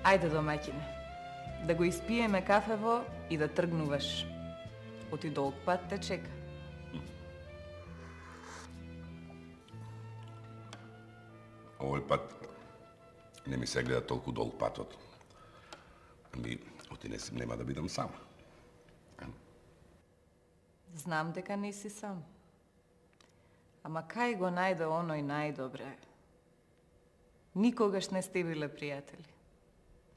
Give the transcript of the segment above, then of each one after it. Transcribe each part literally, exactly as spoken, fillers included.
Ајде, домаќине, да го испиеме кафево и да тргнуваш. Оти долг пат те чека. Овој пат не ми се гледа толку долг патот. Ами, оти не нема да бидам сам. Знам дека не си сам. Ама кај го најде оној најдобре? Никогаш не сте биле пријатели.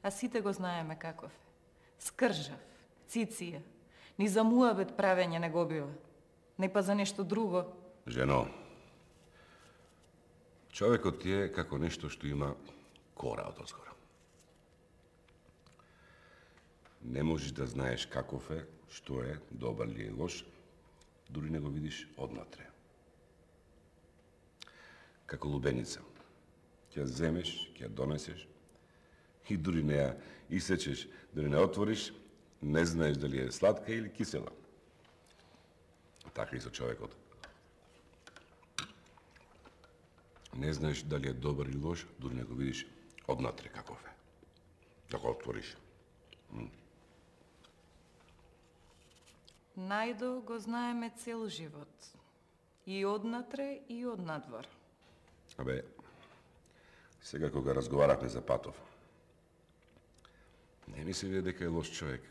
А сите го знаеме каков е. Скржав, циција, ни за муабет правење не го бива. Не па за нешто друго. Жено, човекот ти е како нешто што има кора од озгора. Не можеш да знаеш каков е, што е, добар ли е лош, дури не го видиш однатре. Како лубеница. Ќе ја земеш, ќе ја донесеш и дури не ја исечеш, дури не отвориш, не знаеш дали е сладка или кисела. Така и со човекот. Не знаеш дали е добар или лош, дури не го видиш однатре каков е. Да го отвориш. М. Најдо го знаеме цел живот. И однатре, и однадвор. Абе, сега кога разговарахме за Патов, не ми се види дека е лош човек.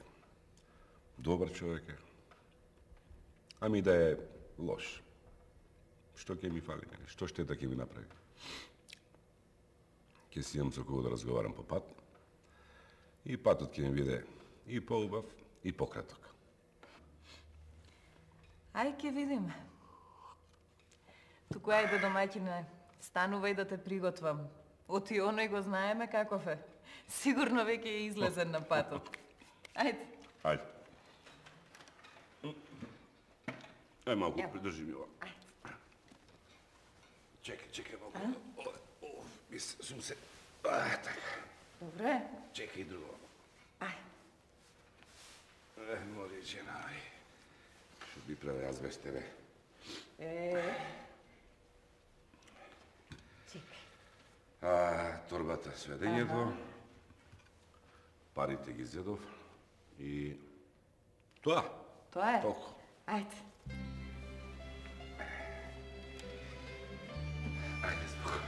Добар човек е. Ами да е лош. Што ќе ми фали? Што штета ќе ми направи? Ќе си имам со кого да разговарам по пат. И патот ќе ми биде и поубав, и пократок. Ај ќе видиме. Туку ајде, домаќине, станувај да те приготвам. Оти оној го знаеме каков е. Сигурно веќе е излезен на патот. Ајде. Ајде. Ај малку, придржи ми ова. Чекај, чекај малку. О, мис, сум се... А, така. Добре. Чекај друго. Ај. Е, мори жена, ај. Што би правил јас без тебе? Е... Чекај. А, торбата сведењето, парите ги зедов и... Тоа. Тоа е? Толку. Ајде. Ајде, споко.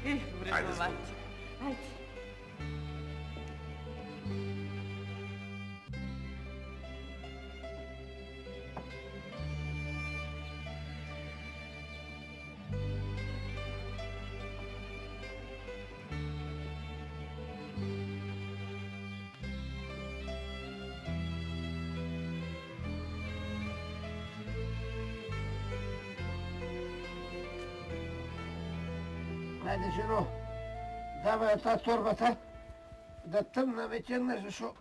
И, вредно мати. Ајде. Ајде, жено, давај таа торбата, да тргнам вечернаш, зашо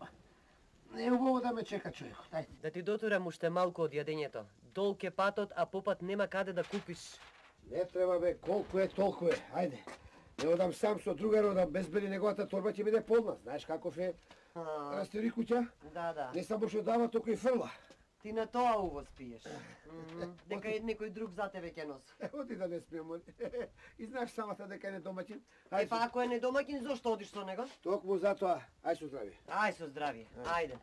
не е убаво да ме чека човекот. Ајде. Да ти дотурам уште малку од јадењето. Долг е патот, а попат нема каде да купиш. Не треба бе, колку е, толку е. Ајде. Не одам сам со другар, одам без бели, неговата торба ќе биде полна. Знаеш каков е растери куќа? Да, да. Не само што дава, току и фрла. Ти на тоа увоз пиеш. Дека е некој друг за тебе ќе носи. Оди да не спием, моли. И знаеш самата дека е недомаќин. Е, па ако е недомаќин, зошто одиш со него? Токму затоа, ај со здравие. Ај со здравие, ајде.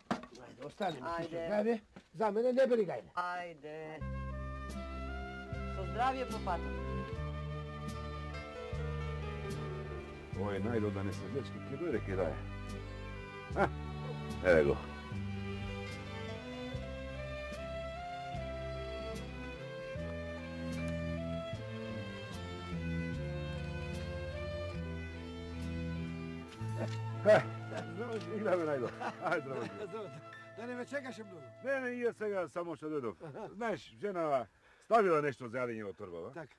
Ајде, остани ми Ајде. со здравие. За мене не бери гајде. Ајде. Со здравие по патот. Ој, најдо да не се дечки, ќе дојде ке дае. А, еве го. Здраво, Играме најдо. Ајде, здраво. здраво. Да не ме чекаше многу. Не, не, ја сега само што дојдов. Знаеш, жена ставила нешто за јадење во торбава. Така.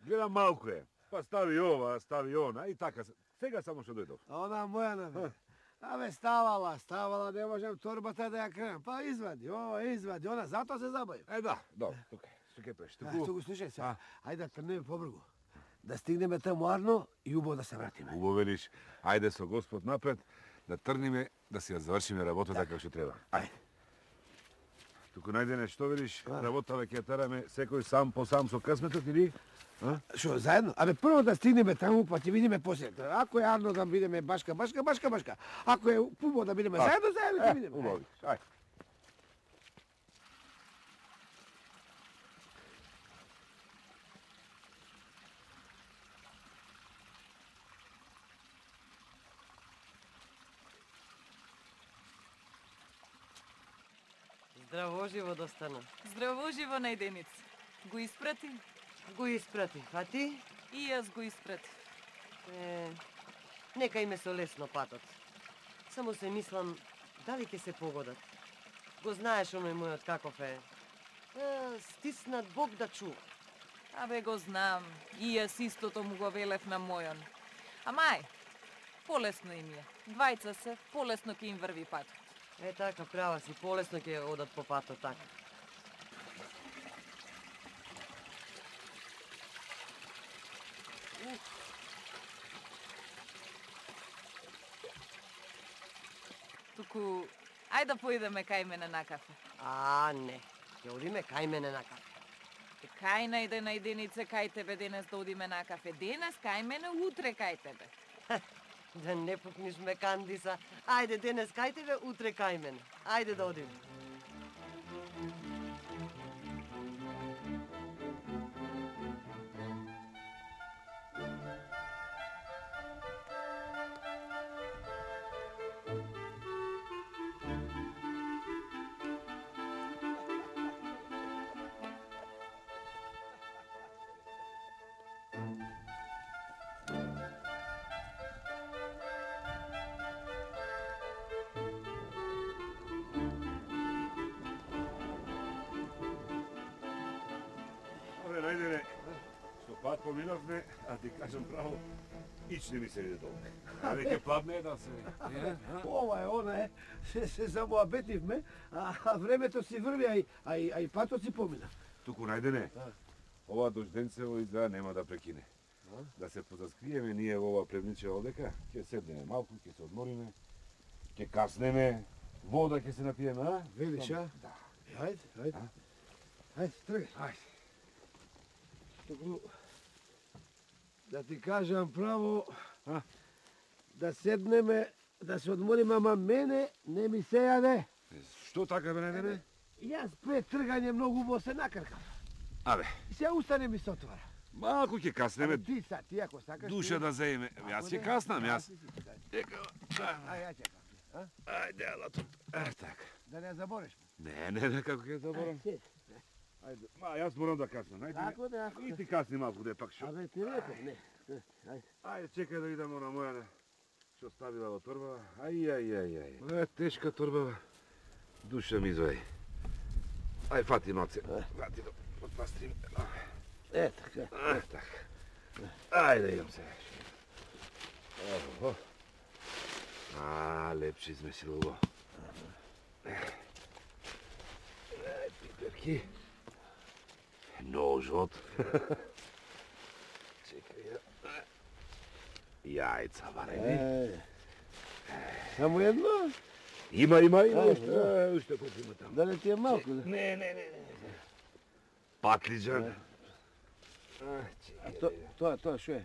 Гледам малку е. Па стави ова, стави она и така. Сега само што дојдов. А она моја на Абе, ставала, ставала, не можем торбата да ја кренам. Па извади, ова, извади, она, затоа се забавив. Е, да, добро, тука. Што ќе правиш? Туку... Туку, слушај се, ајде да тргнеме побргу. Да стигнеме таму арно и убаво да се вратиме. Убаво велиш, ајде со Господ напред, да тргнеме, да си ја завршиме работата како што треба. Ајде. Туку најдене што видиш, работава ќе тераме секој сам по сам со късметот или? Шо, заедно? Абе, прво да стигнеме таму, па ќе видиме после. Ако е Арно да бидеме башка, башка, башка, башка. Ако е Пубо да бидеме заедно, заедно ќе видиме. Убаво. Ај. Здраво живо достана. Здраво живо најденица. Го испрати? Го испрати, а ти? И јас го испрати. Е, нека име со лесно патот. Само се мислам, дали ќе се погодат. Го знаеш оној мојот каков е. е стиснат Бог да чува. Абе го знам. И јас истото му го велев на мојон. Амај, полесно им е. Двајца се, полесно ќе им врви патот. Е така, права си, полесно ќе одат по патот така. Туку, ајде да поидеме кај мене на кафе. А, не. Ќе одиме кај мене на кафе. Е, кај најде најденице кај тебе денес да одиме на кафе? Денес кај мене, утре кај тебе. Да не пукниш ме, Кандиса. Ајде, денес кај тебе, утре кај мене. Ајде да одиме. Најдене, што пат поминавме, а ти кажам право, ич не ми се виде долу. А веќе пладне да се... Ова е, она е. Се, се замоабетивме, а, а времето си врви, а и, а и, а и патот си помина. Туку најдене, ова дожденцево изгледа нема да прекине. Да се позаскриеме ние во ова плевниче одека, ќе седнеме малку, ќе се одмориме, ќе каснеме, вода ќе се напиеме, а? Велиш, а? Да. Ајде, ајде. Ајде, тргај. Ајде. Туку, да ти кажам право, А? да седнеме, да се одмориме, ама мене не ми се јаде. Што така бе најдене? Јас пред тргање многу убаво се накркав. Абе, И се устане ми се отвара. малку ќе каснеме, Ама ти са, ти ако сакаш... душа ти- да заеме. Јас Ако ќе не, каснам, а, јас. ти си, дај. Дека, Ај, ја чекам. А? ајде, ала тут. Е, така. Да не забореш. Не, не, не, како ќе заборам. Ај, Ајде, ма, јас морам да каснам. Ајде, Тако да, ако... и ти касни малку, де пак шо. Абе, ти реков, не. Ајде. Ајде, чекај да идемо на моја, што ставила во торбава. Ај, ај, ај, ај. Ова е тешка торбава. Душа ми извај. Ај, фати ноце. Фати до подпастрим. Е, така. А, така. Ајде, идам се. Ово. А, лепше измесило го. Ај, пиперки. Ножот. Чекај ја. Јајца варени. Е, само едно? Има, има, има. Ај, Уште, да. уште колку има таму. Да не ти е малко? Да? Не, не, не, не. Патлиџан. А, А чекај. то, тоа, тоа шо е?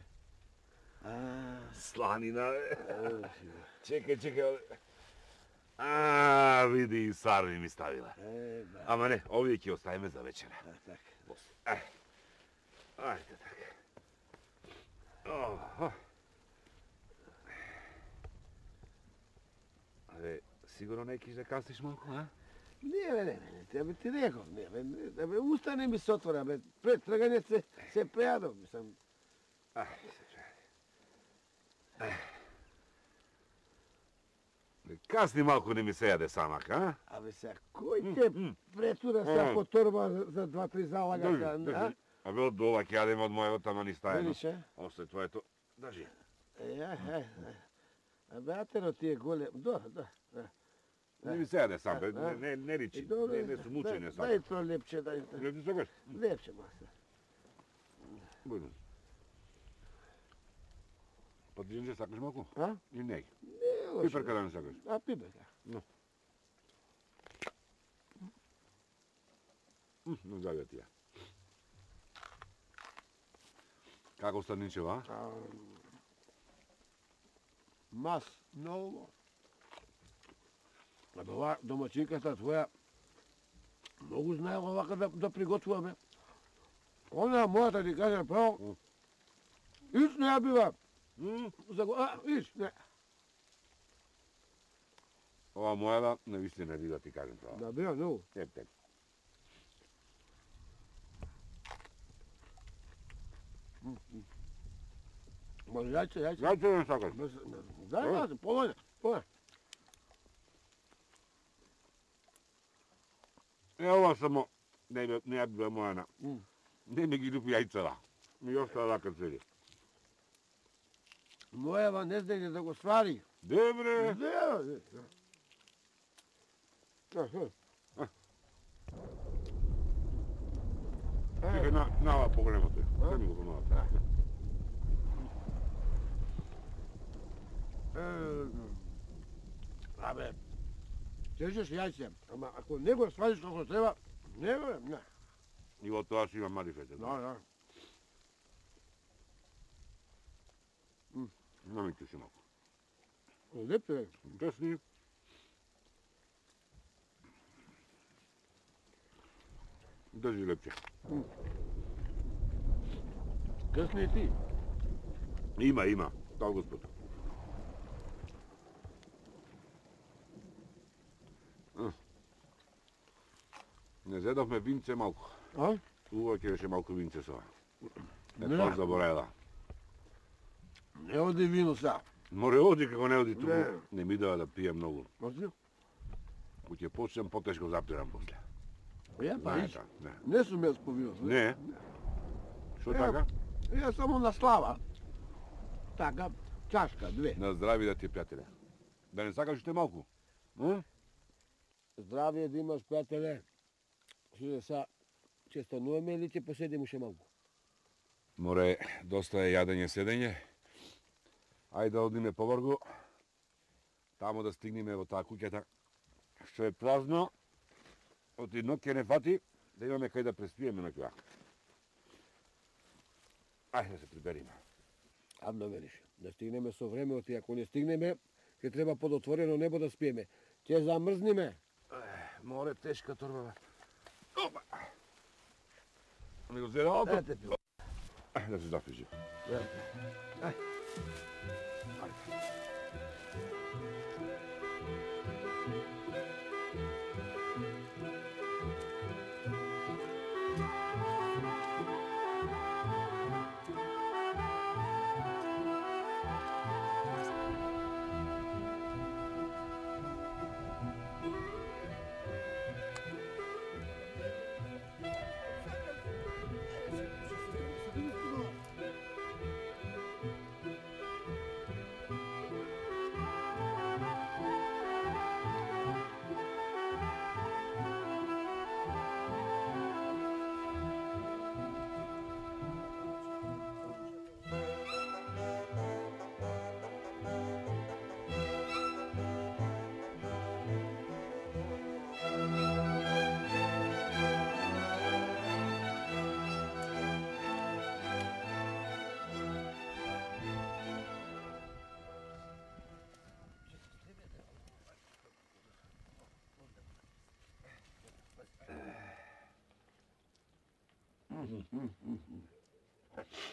А, Сланина, бе. Чекај, чекај. А, види и сарми ми ставила. е, ба, Ама не, овие ќе оставиме за вечера. а, така. Ај. Ајде така. Охо. Абе, сигурно не киш да касниш малку, а? Не, бе, не, не, не, бе, ти реков, не, бе, не, бе, устане ми се отвора, бе, пред тргање се, се прејадов, мислам. Ај, се чуј. Касни малку не ми се јаде самак, а? Абе, сега, кој те м. претура сега по торба за- за два-три залага, Држи, а? држи. Абе, од дола ќе јадеме од мојот, ама ни стајано. Видиш, е? Още твоето. Држи. Е, ај, ај, ај. Абе, атеро ти е голем, до, да, да. Не ми се јаде сам, бе, А, а? не, не, не Е, ричи. добро, Не, не сум учен, не дај- сам. Дај то лепче, дај, дај. Не ти сакаш? Лепче, маса. Бујно. Па джинџер сакаш малку? А? И не. Не, лошо. Пиперка да не сакаш? А, пипер, да. Но. Ну, здравија тија. Како Станичева, а? Мас, много. А ова домачинката твоја многу знае овака да, да приготвуваме. Она мојата ти кажем право, иш не ја бива. За го, а, иш, не. Ова мојава не вистина бива, ти кажем право. Да бива, многу. Еп, тек. Може, јајце, јајце. Јајце не сакаш? Дај, јајце, полојне, полојне. Е, ова само не ја не ја бива мојана. Не ми ги лупи јајцата. Ми остава лака цели. Мојава не знае да го свари. Добре. Де, Чекај, на, на ова поголемото. Дај ми го помалата. Абе, чешеш јајце, ама ако не го свариш како треба, не го, не. И во тоа си има марифете. Да, да. Не ми киси малку. Лепто е. Кесни. Држи лепче. Кесни и ти. Има, има. Дал Господ. Не зедовме винце малку. А? Убаво ќе беше малку винце со. Не Не. тоа забораела. Не оди вино са. Море оди како не оди туку. Не. Не ми дава да пијам многу. Може? Ку ќе почнем потешко запирам после. Ја, па иш. Знаете, не. Не сум јас по вино. Не. Што Е, така? Ја само на слава. Така, чашка, две. На здрави да ти, пријателе. Да не сакаш уште малку? М? Здравие да имаш, пријателе. Што са, ќе стануваме или ќе поседим уште малку? Море, доста е јадење, седење. Ајде да одиме повргу. Тамо да стигнеме во таа куќата што е празно. Од едно ќе не фати, да имаме кај да преспиеме на која. Ајде да се прибериме. Адно велиш, да стигнеме со времето и ако не стигнеме, ќе треба под отворено небо да спиеме. Ќе замрзниме. Море, тешка торба, бе. Опа! Ми го зеда опа. Ете пил. Ајде да се запиши. Ај.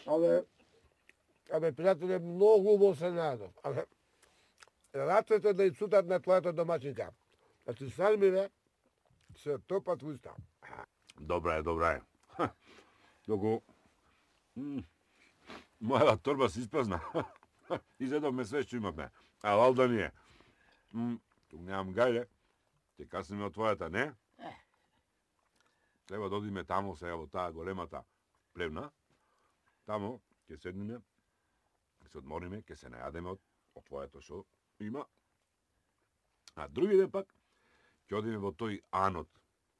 Абе, абе, пријателе, многу убаво се најдов. Абе, рацете да и цутат на твојата домачинка. Значи, сармиве се топат в уста. Добра е, добра е. Доку мојава торба се испразна. Изедовме све што имавме. А валда ние. Тук немам гајле. Ќе каснеме од твојата, не? Треба да одиме тамо сега во таа големата плевна. Тамо ќе седниме, ќе се одмориме, ќе се најадеме од, од твоето што има. А други ден пак ќе одиме во тој Анот.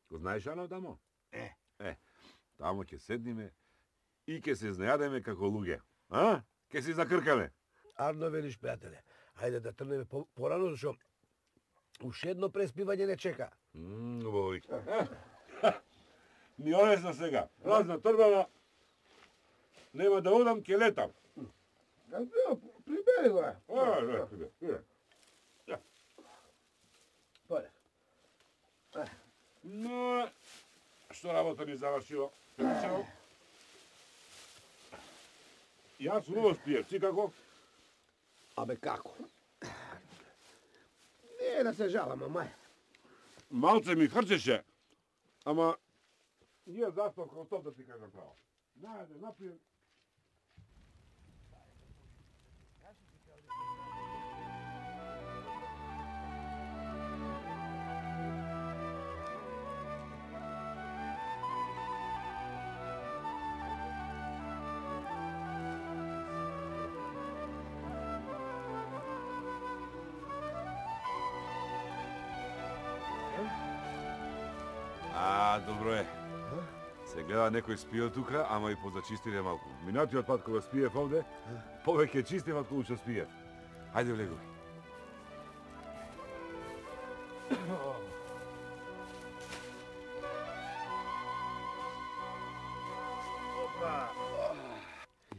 Го знаеш Анот тамо? Е. Е, тамо ќе седниме и ќе се знајадеме како луѓе. А? Ќе се закркаме. Арно велиш, пријателе. Ајде да трнеме по, порано, зашо уште едно преспивање не чека. Мм, убаво. Ми одесна сега. Празна торбава. Нема да одам, ке летам. Прибери го. А, да, прибери. Поле. Но, што работа ни завршила? Јас убаво спиев, ти како? Абе како? Не да се жалам, мај. Малце ми хрчеше, ама ние заспав како топ да ти кажам право. Најде, напиjem. А, добро е. Се гледа некој спиел тука, ама и позачистиле малку. Минатиот пат кога спиев овде, повеќе чистив од што спиев. Хајде влегувај.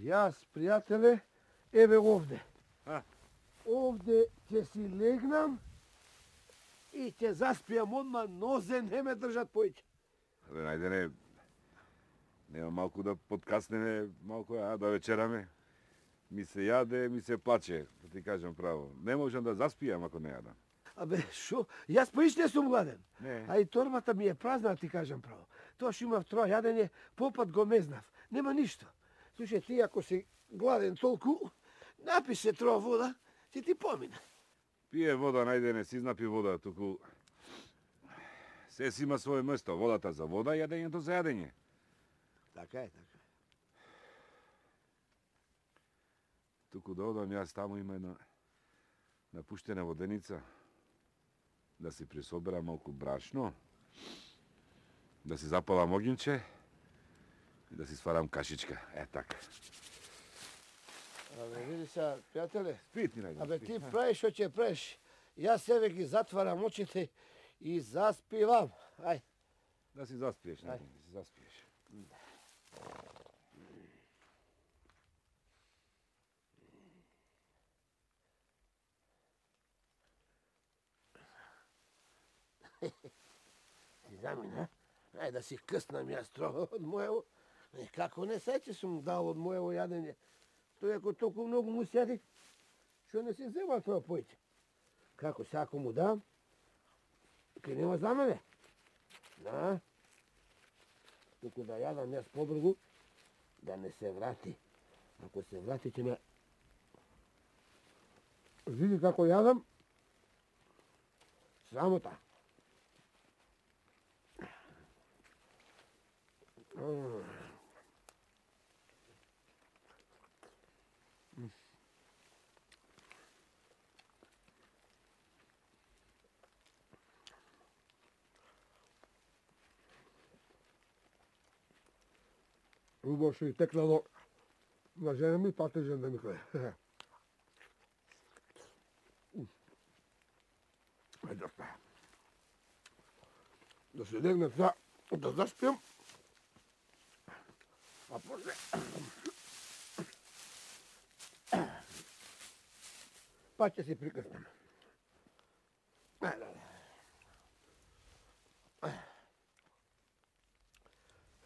Јас, пријателе, еве овде. А? Овде ќе си легнам и ќе заспијам одма, нозе не ме држат поиќе. Абе, најдене, нема малку да подкаснеме, малку, а, да вечераме. Ми се јаде, ми се плаче, да ти кажам право. Не можам да заспијам ако не јадам. Абе, шо? Јас поиш не сум гладен. Не. А и торбата ми е празна, да ти кажам право. Тоа што имав троа јадење, попат го мезнав. Нема ништо. Слушај, ти ако си гладен толку, напи се троа вода, ќе ти помине. Пие вода, најдене, си знапи вода, туку... Се си има своје место, водата за вода, јадењето за јадење. Така е, така. Туку да одам јас таму има една напуштена воденица, да си присоберам малку брашно, да си запалам огинче и да си сварам кашичка. Е, така. Абе, види сега, пријателе, Спи ти, најдене. абе спи. ти правиш што ќе правиш. Јас себе ги затварам очите и заспивам. Ај. Да си заспиеш, најдене, да си заспиеш. Ти замина, ај да си къснам јас троа од моево. Е, како не се че сум дал од моево јадење. Тој ако толку многу му сјади, што не си взема тоа појќе. Како се ако му дам, ке нема за мене. Да. Туку да јадам јас побргу, да не се врати. Ако се врати, ќе ме... Види како јадам, срамота. Убаво што и текнало на жена ми, патежен да ми кле. Ајде, да се легнем за да заспијам, а после па ќе си прикрстам. Ајде.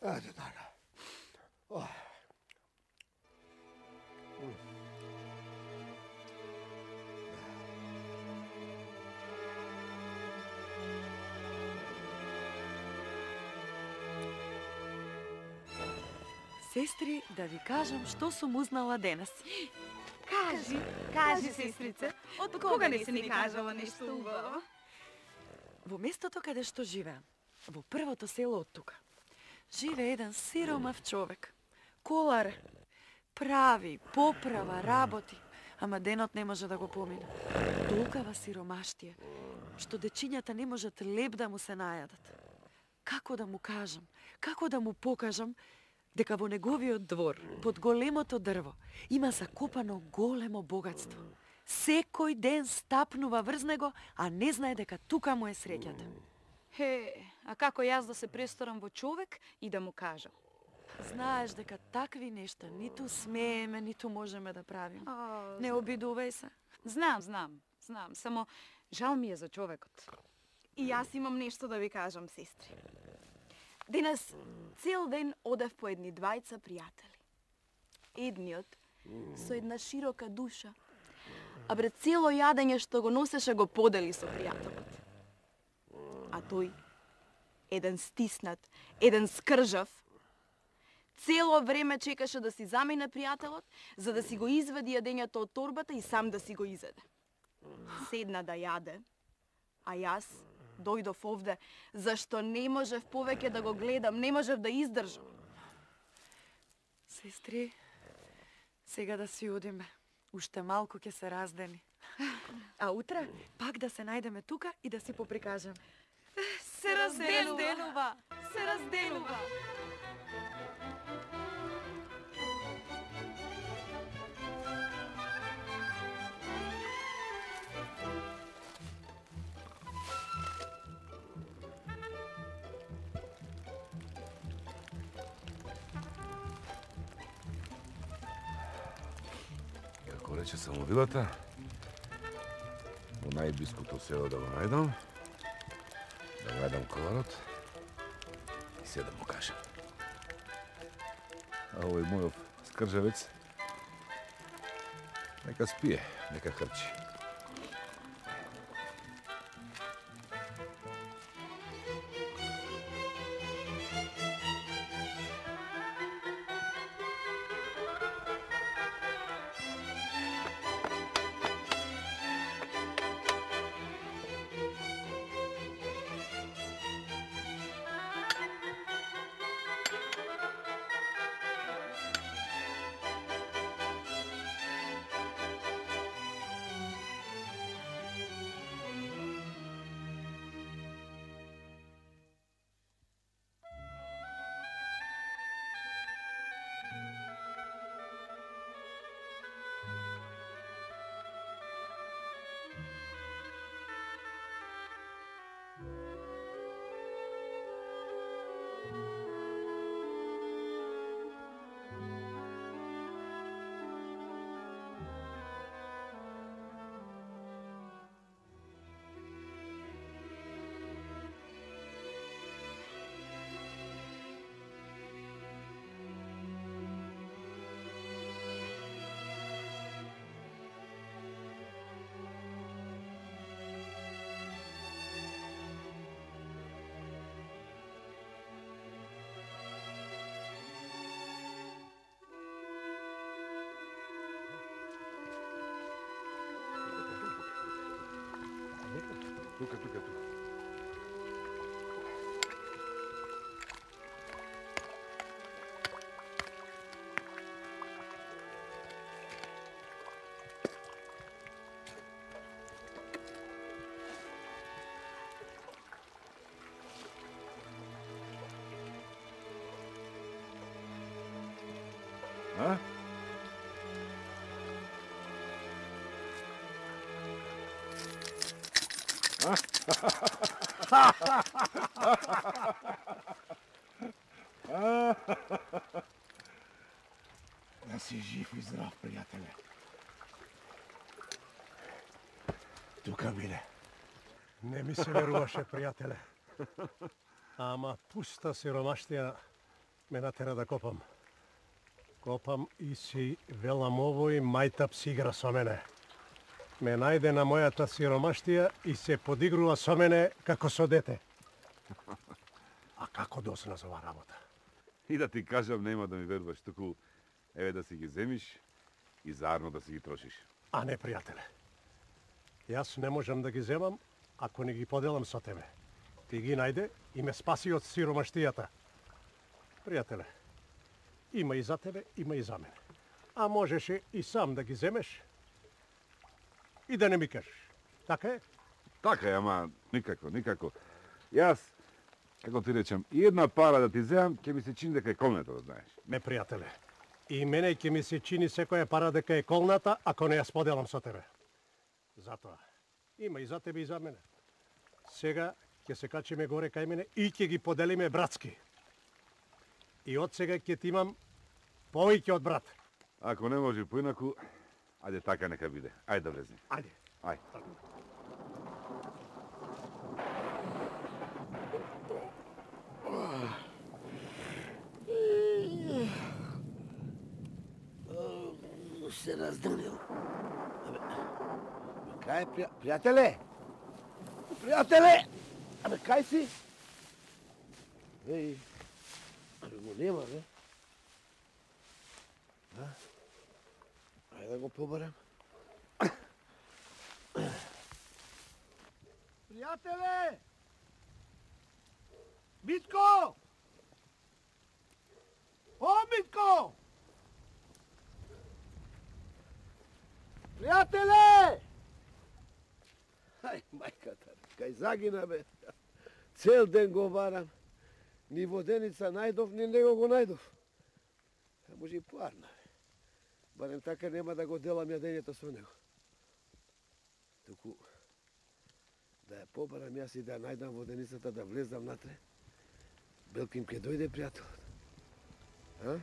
Ајде, така. Ох. Сестри, да ви кажам што сум узнала денес. Кажи, кажи, сестрица, од кога не си ни кажала нешто убаво? Во местото каде што живеам, во првото село од тука, живее еден сиромав човек. Колар, прави, поправа, работи, ама денот не може да го помине. Толкава сиромаштие, што дечињата не можат леп да му се најадат. Како да му кажам, како да му покажам дека во неговиот двор, под големото дрво, има закопано големо богатство. Секој ден стапнува врз него, а не знае дека тука му е среќата. Хе, А како јас да се престорам во човек и да му кажам? Знаеш дека такви нешта ниту смееме, ниту можеме да правиме. А, Не обидувај се. Знам, знам, знам, само жал ми е за човекот. И јас имам нешто да ви кажам, сестри. Денес цел ден одев по едни двајца пријатели. Едниот со една широка душа, а пред цело јадење што го носеше го подели со пријателот. А тој, еден стиснат, еден скржав, цело време чекаше да си замине пријателот, за да си го изведи јадењето од торбата и сам да си го изеде. Седна да јаде, а јас дојдов овде, зашто не можев повеќе да го гледам, не можев да издржам. Сестри, сега да си одиме. Уште малку ќе се раздени. А утре пак да се најдеме тука и да си поприкажем. Се разделува, се разделува. Како рече самовилата, во најблиското село да го најдам, да најдам коварот и се да му кажам. А овој мојов скржавец, нека спие, нека хрчи. Тука, тука, тука. А? Да си жив и здрав, пријателе. Тука биде. Не ми се веруваше, пријателе. Ама пуста сиромаштија ме натера да копам. Копам и си велам овој мајтап си игра со мене. Ме најде на мојата сиромаштија и се подигрува со мене како со дете. А како досна за ова работа? И да ти кажам, нема да ми веруваш, туку еве да си ги земиш и заедно да си ги трошиш. А не, пријателе. Јас не можам да ги земам ако не ги поделам со тебе. Ти ги најде и ме спаси од сиромаштијата. Пријателе, има и за тебе, има и за мене. А можеше и сам да ги земеш и да не ми кажеш. Така е? Така е, ама никако, никако. Јас, како ти речам, и една пара да ти земам, ќе ми се чини дека е колната, да знаеш. Не, пријателе. И мене ќе ми се чини секоја пара дека е колната, ако не ја споделам со тебе. Затоа, има и за тебе и за мене. Сега ќе се качиме горе кај мене и ќе ги поделиме братски. И од сега ќе ти имам повеќе од брат. Ако не може поинаку, ајде така нека биде. Ајде да влезни. Ајде. Ајде. Се раздрнил. Абе, кај е, пријателе? Пријателе! Абе, кај си? Еј, абе, го нема, бе. Да? Ајде да го побарам. Пријателе! Митко! О, Митко! Пријателе! Ај, мајката, кај загина, бе. Цел ден го барам. Ни воденица најдов, ни него го најдов. А може и поарна, бе. Барем така нема да го делам јадењето со него. Туку, да ја побарам јас и да ја најдам воденицата, да влезам натре. Белким ке дојде пријателот. А?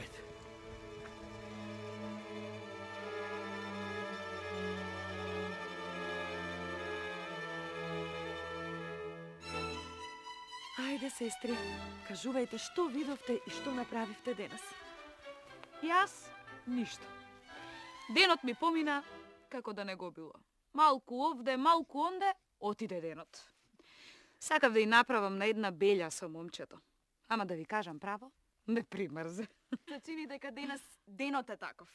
Ајде. Ајде, сестри, кажувајте што видовте и што направивте денес. Јас ништо. Денот ми помина како да не го било. Малку овде, малку онде, отиде денот. Сакав да ја направам на една белја со момчето. Ама да ви кажам право, ме примрзе. Се чини дека денес денот е таков.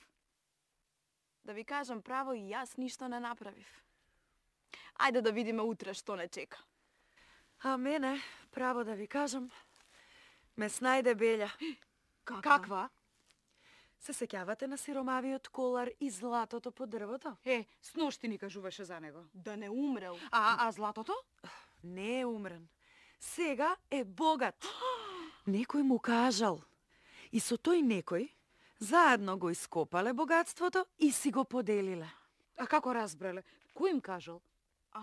Да ви кажам право, и јас ништо не направив. Ајде да видиме утре што не чека. А мене, право да ви кажам, ме снајде белја. Каква? Каква? Се сеќавате на сиромавиот колар и златото по дрвото? Е, сношти ни кажуваше за него. Да не умрел. А, а златото? Не е умрен. Сега е богат. Некој му кажал. И со тој некој заедно го ископале богатството и си го поделиле. А како разбрале? Кој им кажал? А,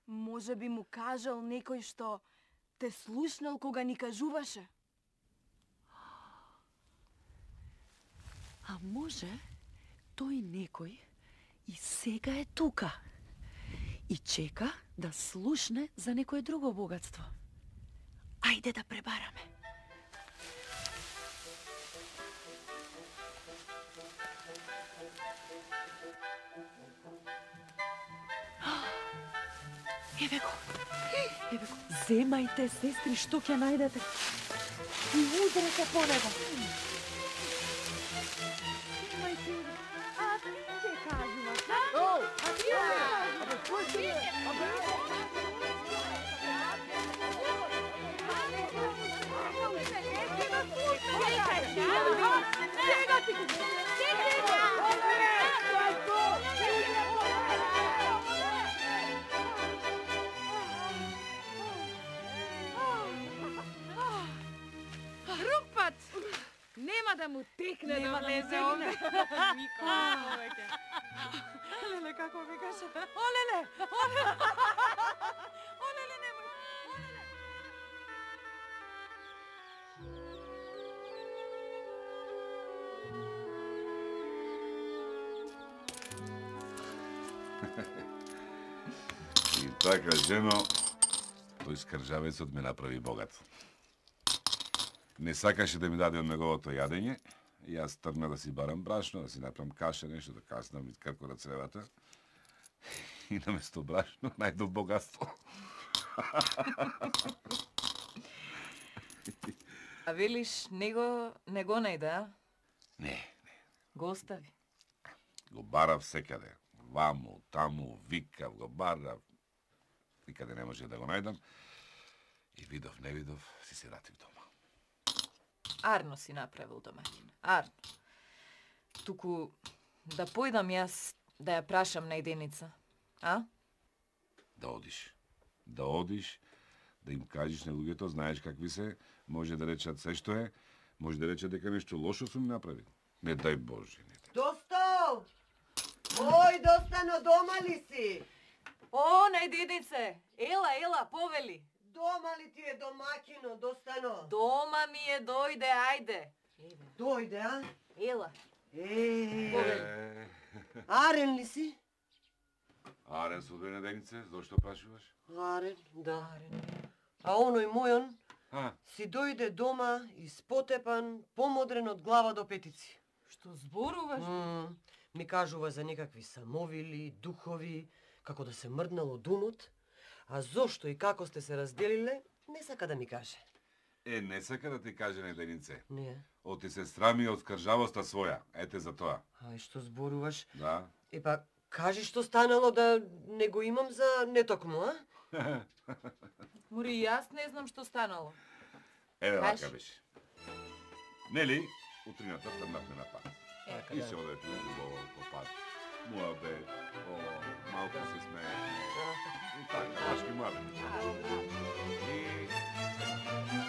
може би му кажал некој што те слушнал кога ни кажуваше. А може тој некој и сега е тука и чека да слушне за некое друго богатство. Ајде да пребараме. Еве го. Еве го. Земајте, сестри, што ќе најдете. И удрете по него. Земајте. А ти ќе кажуваш, а? О, а ти ќе кажуваш. Абе, кој си бе? Абе, Сега ти го. Рупат! Нема да му текне да влезе овде. Нико, повеќе. Леле, како ви кажа? Олеле! Олеле! Олеле, немој! Олеле! И така, жено, тој скржавецот ме направи богат. Не сакаше да ми даде од неговото јадење, и јас тргна да си барам брашно, да си направам каша, нешто да каснам и крко на цревата. И наместо брашно најдов богатство. А велиш, него не го најде, а? Не, не. Го остави. Го барав секаде. Ваму, таму, викав, го барав. Никаде не може да го најдам. И видов, не видов, си се вратив дома. Арно си направил домаќин. Арно. Туку да појдам јас да ја прашам најденица. А? Да одиш. Да одиш, да им кажеш на луѓето, знаеш какви се, може да речат се што е, може да речат дека нешто лошо сум направил. Не дај Боже, не дај. Досто! Ој, Достано, дома ли си? О, најдедице! Ела, ела, повели! Дома ли ти е домакино, достано? Дома ми е, дојде, ајде! Дојде, а? Ела! Е, Арен ли си? Арен со две неденице, зошто прашуваш? Арен, да. А оној мојон А, си дојде дома испотепан, помодрен од глава до петици. Што зборуваш? М, ми кажува за некакви самовили, духови, како да се мрднало думот, а зошто и како сте се разделиле, не сака да ми каже. е, не сака да ти каже неденице. Не. Оти се срами од скржавоста своја, ете за тоа. Ај, што зборуваш? Да. Епа, кажи што станало да не го имам за нетокму, а? Мори, јас не знам што станало. Еве Кажи. вака беше. Нели, утрината трнавме на пат. Така, И да. се одете убаво по пат. Муабе, о, малку се смеевме. И така, башки муабе. И